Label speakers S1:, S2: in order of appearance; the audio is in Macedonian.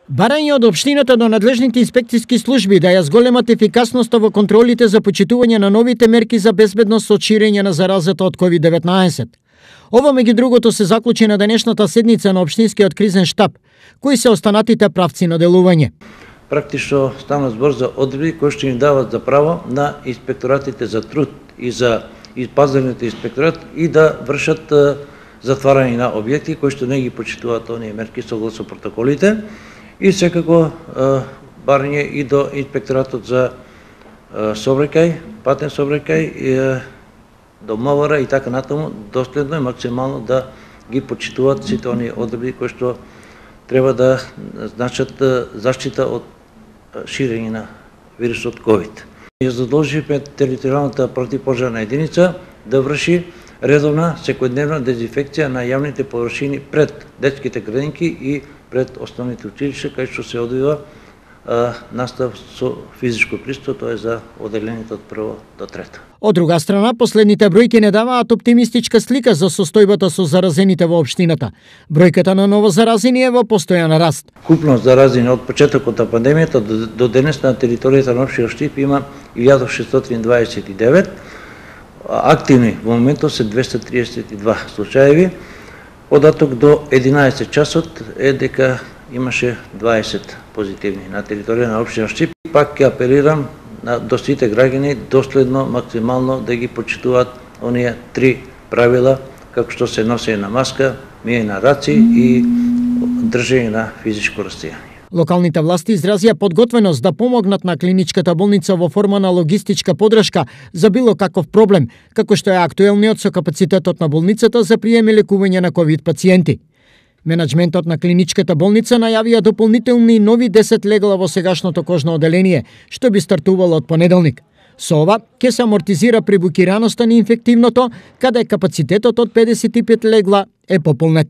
S1: Барање од општината до надлежните инспекциски служби да ја зголемат ефикасноста во контролите за почитување на новите мерки за безбедност од ширење на заразата од COVID-19. Ова меѓу другото се заклучи на денешната седница на општинскиот кризен штаб. Кои се останатите правци на делување?
S2: Практично стана збор за одредби кои што им дават за право на инспекторатите за труд и за пазарните инспекторат и да вршат затварање на објекти кои што не ги почитуваат оние мерки согласно протоколите. И секако барање и до инспекторатот за сообраќај, патен сообраќај, до МВР и така натаму, доследно и максимално да ги почитуваат сите оние одредби кои што треба да значат заштита од ширење на вирусот COVID. Ја задолживме територијалната противпожарна единица да врши редовна секојдневна дезинфекција на јавните површини пред детските градинки и пред основните училишта, кај што се одвива настав со физичко присуство, тоа е за оделените од прво до трето.
S1: Од друга страна, последните бројки не даваат оптимистичка слика за состојбата со заразените во општината. Бројката на новозаразени е во постојан раст.
S2: Купно заразени од почетокот на пандемијата до денес на територијата на општина Штип има 1629, активни во моментот се 232 случаеви. Податок до 11 часот е дека имаше 20 позитивни на територија на општина Штип. Пак ќе апелирам до сите граѓани доследно, максимално да ги почитуваат оние 3 правила, како што се носење на маска, миење на раци и држење на физичко расстојание.
S1: Локалните власти изразија подготвеност да помогнат на клиничката болница во форма на логистичка подршка за било каков проблем, како што е актуелниот со капацитетот на болницата за прием и лекување на ковид пациенти. Менаџментот на клиничката болница најавија дополнителни нови 10 легла во сегашното кожно оделение, што би стартувало од понеделник. Со ова ќе се амортизира прибукираноста на инфективното, каде капацитетот од 55 легла е пополнет.